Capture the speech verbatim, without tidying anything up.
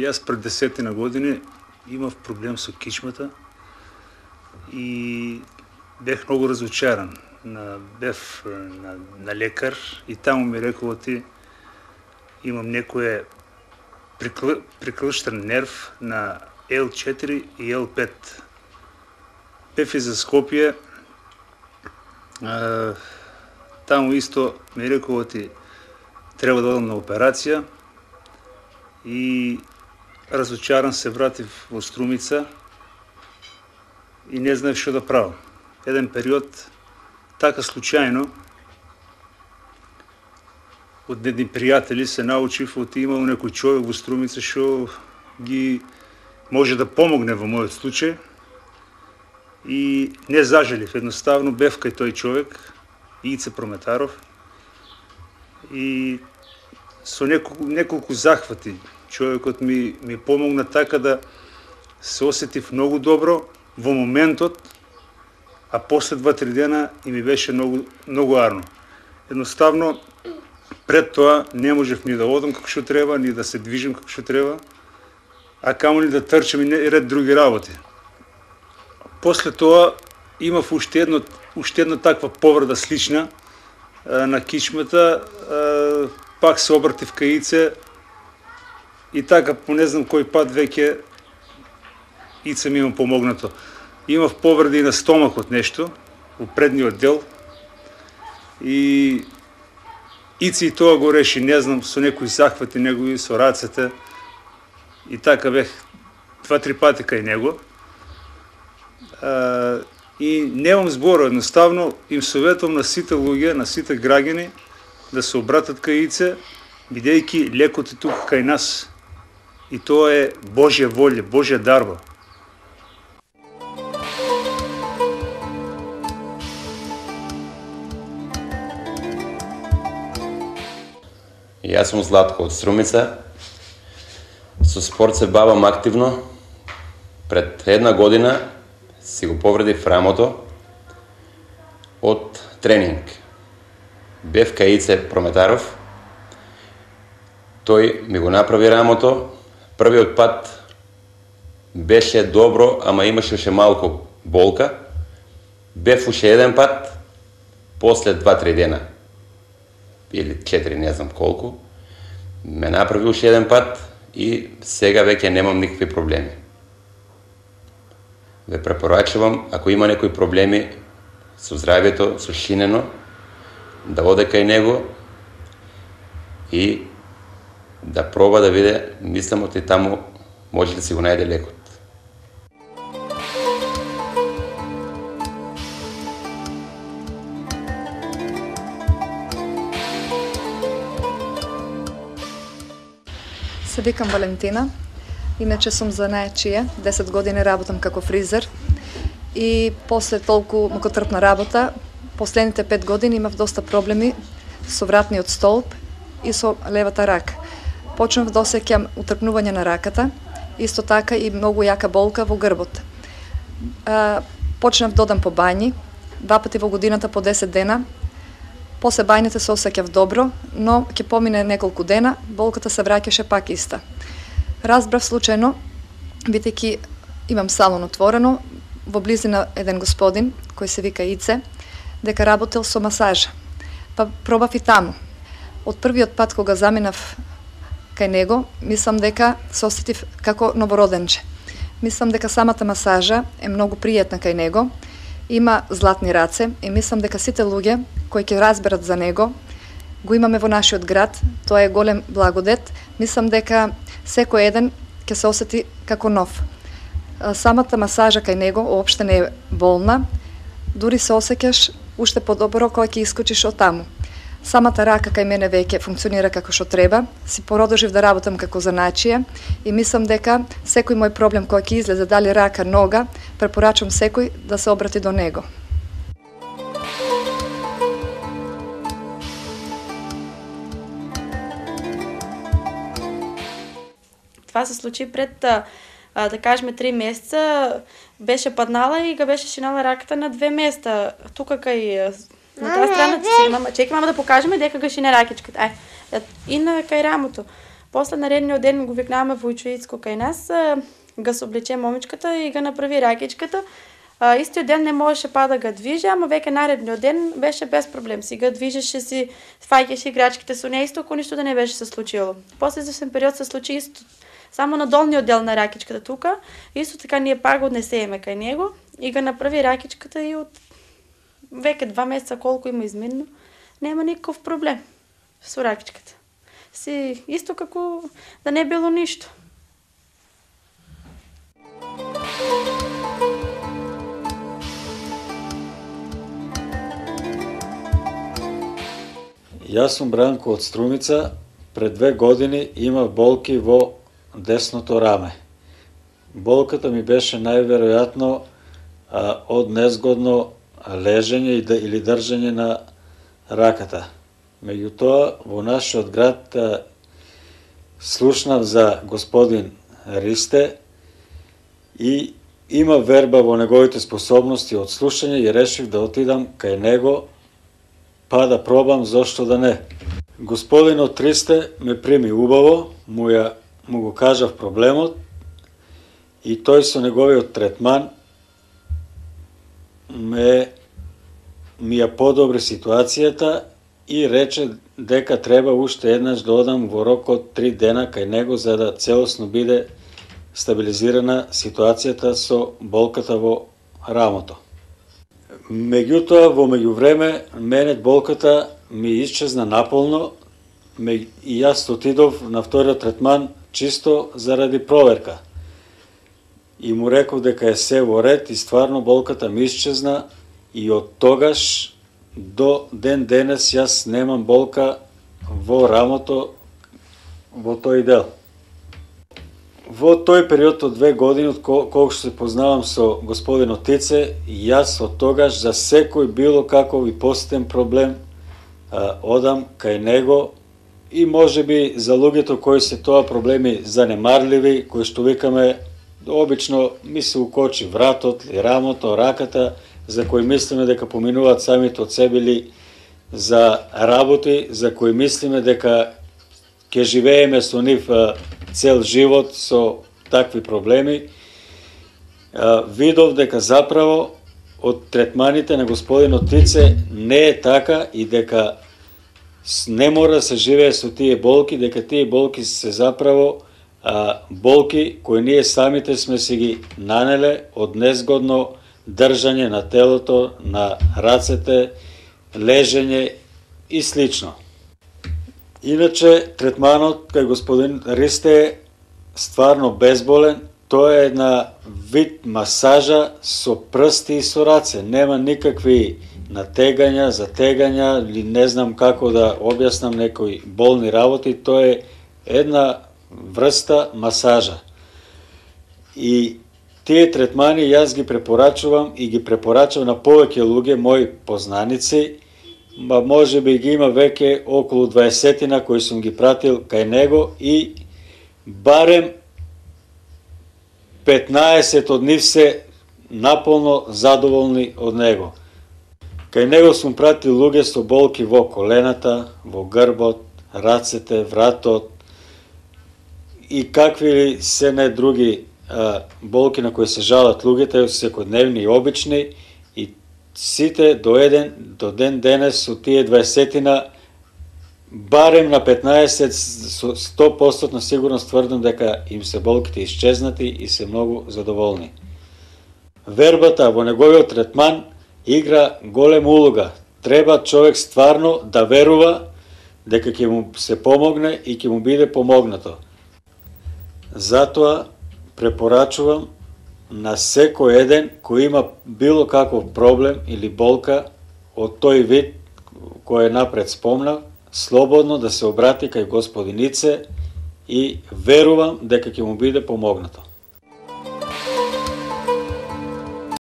Јас пред десетина години имав проблем со кичмата и бех многу разочаран. На, бев на, на лекар и таму ми рекол ти имам некој прикл, приклштен нерв на Ел четири и Ел пет. Бев и за Скопје, а, таму исто ми рекол ти треба да одам на операција и разочаран се вратив во Струмица и не знаев што да правам. Еден период така случајно од едни пријатели се научив од имал некој човек во Струмица што ги може да помогне во мојот случај и не зажелив. Едноставно бев кај тој човек, Ице Прометаров, и со неколку, неколку захвати човекот ми, ми помогна така да се осетив многу добро во моментот, а после два-три дена и ми беше многу, многу арно. Едноставно, пред тоа не можев ни да одам како што треба, ни да се движим како што треба, а камо ни да трчам и ред други работи. После тоа имав уште едно, уште една таква повреда слична а, на кичмата, а, пак се обратив кај Ице и така по не знам кој пат веќе Ице ми има помогнато. Имав повреди на стомакот нешто, во предниот дел, и Ице и тоа го реши, не знам, со некои захвати негови, со рацете, и така бех два-три пати кај него. А, и немам збор, едноставно им советувам на сите луѓе, на сите граѓани, да се обратат кај Ице, бидејќи лекот е тука кај нас, и тоа е Божја волја, Божја дарба. Јас сум Златко од Струмица. Со спорт се бавам активно. Пред една година си го повредив рамото од тренинг. Бев кај Ице Прометаров. Тој ми го направи рамото. Првиот пат беше добро, ама имаше уште малку болка. Бев уште еден пат, после два-три дена, или четири, не знам колку, ме направи уште еден пат и сега веќе немам никакви проблеми. Ве препорачувам, ако има некои проблеми со здравјето, со шинено, да оде кај него и да проба да виде, мислам оти таму може да си го најде лекот. Се викам Валентина, иначе сум занаечија, десет години работам како фризер и после толку мукотрпна работа, последните пет години имав доста проблеми со вратниот столб и со левата рака. Почнав да осеќам утрпнување на раката, исто така и многу јака болка во грбот. А, почнав да одам по бањи, два пати во годината по десет дена. После бајните се осеќав добро, но ќе помине неколку дена, болката се враќаше пак иста. Разбрав случајно, бидејќи имам салон отворено, во близина еден господин, кој се вика Ице, дека работел со масажа. Па пробав и таму. Од првиот пат кога заминав кај него, мислам дека се осетив како новороденче. Мислам дека самата масажа е многу пријатна кај него, има златни раце и мислам дека сите луѓе кои ќе разберат за него, го имаме во нашиот град, тоа е голем благодет. Мислам дека секој еден ќе се осети како нов. Самата масажа кај него уопште не е болна, дури се осеќаш уште подобро кога ќе искочиш од таму. Самата рака кај мене веќе функционира како што треба, си продолжив да работам како занаечија и мислам дека секој мој проблем кој ќе излезе, дали рака, нога, препорачувам секој да се обрати до него. Това се случи пред, а, да кажеме, три месеца. Беше паднала и га беше шинала раката на две места. Тука кај на таа страна, сега мама, чекай мама да покажеме дека га шине ракичката. Ај, и на кај рамото. После наредниот ден го викнаваме војчоицко кај нас, го соблече момичката и го направи ракичката. А, истиот ден не можеше па да го движи, ама веќе наредниот ден беше без проблем. Си го движеше, си фаќаше играчките со неа, исто ко ништо да не беше се случило. После известен период се случи исто само на долниот дел на ракичката тука, исто така ние пак го однесеме кај него и го направи ракичката и од веќе два месеца колку има изминно, нема никаков проблем со ракичката. Си исто како да не било ништо. Јас сум Бранко од Струмица. Пред две години имав болки во десното раме. Болката ми беше најверојатно а, од незгодно лежење или држање на раката. Меѓутоа, во нашиот град а, слушнав за господин Ристе и има верба во неговите способности од слушање и решив да отидам кај него па да пробам зошто да не. Господинот Ристе ме прими убаво, му, ја, му го кажав проблемот и тој со неговиот третман ме ми ја подобри ситуацијата и рече дека треба уште еднаш да одам во рок од три дена кај него за да целосно биде стабилизирана ситуацијата со болката во рамото. Меѓутоа, во меѓувреме, мене болката ми исчезна наполно и јас отидов на вториот третман чисто заради проверка. И му реков дека е се во ред и стварно болката ми исчезна и од тогаш до ден денес јас немам болка во рамото во тој дел. Во тој период од две години, од колку се познавам со господинот Тице, јас од тогаш за секој било каков и посетен проблем а, одам кај него и може би за луѓето кои се тоа проблеми занемарливи, кои што викаме обично ми се укочи вратот, ли рамото, раката, за кои мислиме дека поминуваат самите од себе или за работи, за кои мислиме дека ќе живееме со нив цел живот со такви проблеми, видов дека заправо од третманите на господинот Тице не е така и дека не мора да се живее со тие болки, дека тие болки се заправо а, болки кои ние самите сме си ги нанеле од незгодно држање на телото, на рацете, лежење и слично. Иначе, третманот кај господин Ристе е стварно безболен. Тоа е една вид масажа со прсти и со раце. Нема никакви натегања, затегања или не знам како да објаснам некои болни работи. Тоа е една врста масажа. И тие третмани јас ги препорачувам и ги препорачувам на повеќе луѓе, мои познаници, ма може би ги има веќе околу дваесетина кои сум ги пратил кај него и барем петнаесет од нив се наполно задоволни од него. Кај него сум пратил луѓе со болки во колената, во грбот, рацете, вратот и какви ли се не други а, болки на кои се жалат луѓето, секојдневни и обични, и сите до еден, до ден денес со тие дваесетина, барем на петнаесет, со сто проценти сигурност тврдам дека им се болките исчезнати и се многу задоволни. Вербата во неговиот третман игра голема улога. Треба човек стварно да верува дека ќе му се помогне и ќе му биде помогнато. Затоа препорачувам на секој еден кој има било каков проблем или болка од тој вид кој е напред спомнав, слободно да се обрати кај господин Ице и верувам дека ќе му биде помогнато.